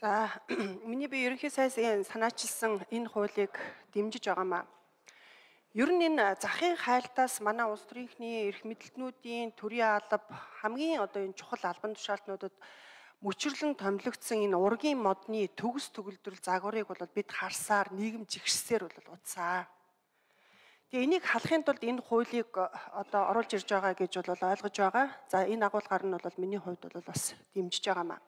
За миний би ерөнхий сайдын санаачилсан энэ хуулийг дэмжиж байгаамаа. Ер нь энэ захын хайлтаас манай улс төрийнхний эрх мэдэлтнүүдийн төрийн алба хамгийн энэ чухал албан тушаалтнуудад мөчрлөн томилогдсон энэ ургийн модны төгс төгөлдрөл загварыг бол бид харсаар нийгэм жигшсээр бол утсаа. Тэгээ энийг халахын тулд энэ хуулийг оруулж ирж байгаа гэж бол ойлгож байгаа. За энэ агуулгаар нь бол миний хувьд бол бас дэмжиж байгаамаа.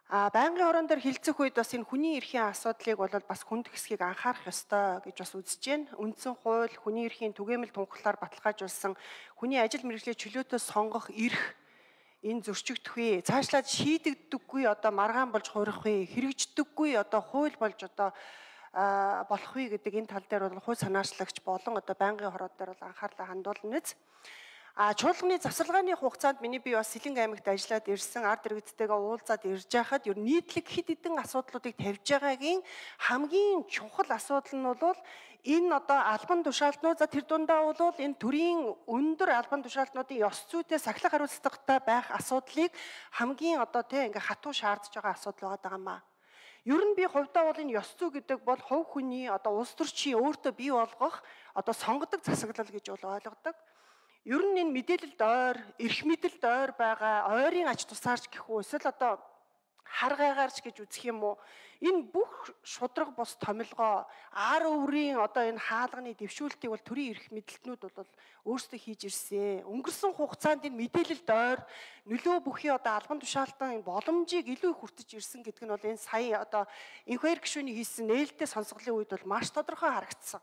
Байнгын хорон дээр хилцэх үед бас энэ хүний эрхийн асуудлыг бол бас хүнд хэсгийг анхаарах ёстой гэж бас үзэж байна. Үндсэн хууль хүний эрхийн түгээмэл тунхаглаар баталгаажуулсан хүний ажил мэргэжлийн чөлөөтэй сонгох эрх энэ зөрчигдөх үе, цаашлаад шийдэгддэггүй маргаан болж хуурах үе, хэрэгждэггүй хууль болж болох үе гэдэг энэ тал дээр бол хууль санаачлагч болон байнгын хороод дээр бол анхаарлаа хандуулна биз. Чуулганы завсаргааны хугацаанд миний би бас Сэлэнг аймагт ажиллаад ирсэн ард иргэдтэйгээ уулзаад ирж байхад ер нь нийтлэг хэд хэдэн асуудлуудыг тавьж байгаагийн хамгийн чухал асуудал нь бол энэ албан тушаалтнууд за тэр дундаа бол энэ төрийн өндөр албан тушаалтнуудын ёс зүйтэй сахилга хариуцлагатай байх асуудлыг хамгийн ингээ хатуу шаардж байгаа асуудал байгаа маа. Ер нь би хувьдаа бол энэ ёс зүй гэдэг бол хувь хүний улс төрчийн өөртөө бий болгох сонгодог засаглал гэж бол ойлгодог. Ер нь энэ мэдээлэлд ойр, эрх мэдэлд ойр байгаа ойрын ач тусаарч гэх үү эсвэл хар гайгаарч гэж үзэх юм уу? Энэ бүх шудраг бус томилгоо ар өврийн энэ хаалганы дэвшүүлтийг бол төрийн эрх мэдэлтнүүд бол өөрсдөө хийж ирсэн. Өнгөрсөн хугацаанд энэ мэдээлэлд ойр нөлөө бүхий албан тушаалтан боломжийг илүү их хүртэж ирсэн гэдэг нь бол энэ сая инхвайр гишүүний хийсэн нээлттэй сонсголын үед бол маш тодорхой харагдсан.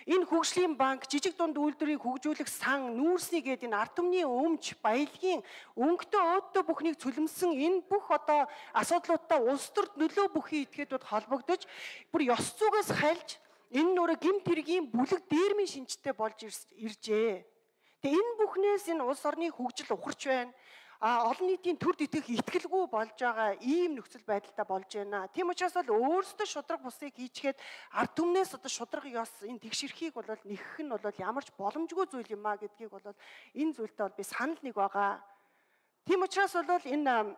Энэ хөгжлийн банк жижиг дунд үйлдвэрийг хөгжүүлэх сан нүүрсний гээд энэ ард түмний өмч баялагын өнгөтэй өөдөө бүхнийг цөлмсөн энэ бүх асуудлуудтай улс төрд нөлөө бүхий этгээдүүд холбогдож бүр ёс зүйгээс хальж энэ нөрө гэмт хэргийн бүлэг дээрмийн шинжтэй болж иржээ. Тэгээ энэ бүхнээс энэ улс орны хөгжил ухарч байна. Олон нийтийн төр итгэх итгэлгүй болж байгаа ийм нөхцөл байдалтай болж байна. Тийм учраас бол өөрсдөө шудраг бусыг хийчихэд ард түмнээс шудраг ёс энэ тэгшэрхийг бол нэгэх нь бол ямарч боломжгүй зүйл юм а гэдгийг бол энэ зүйлтэй бол би санал нэг байгаа. Тийм учраас бол энэ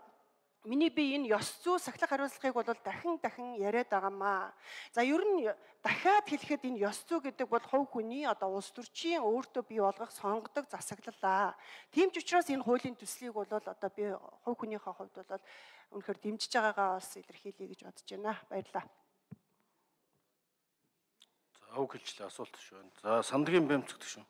миний би энэ ёс зүй сахилга хариуцлагыг бол дахин яриад байгаамаа. За ер нь дахиад хэлэхэд энэ ёс зүй гэдэг бол хувь хүний улс төрчийн өөртөө бий болгох сонгодог засаглалаа. Тийм ч учраас энэ хуулийн төслийг бол би хувь хүнийхээ хувьд бол үнэхээр дэмжиж байгаагаа бас илэрхийлье гэж бодож байна. Баярлалаа. За өг хэлчлээ асуулт шүү. За Сандгийн бэмцэгдэх шүү.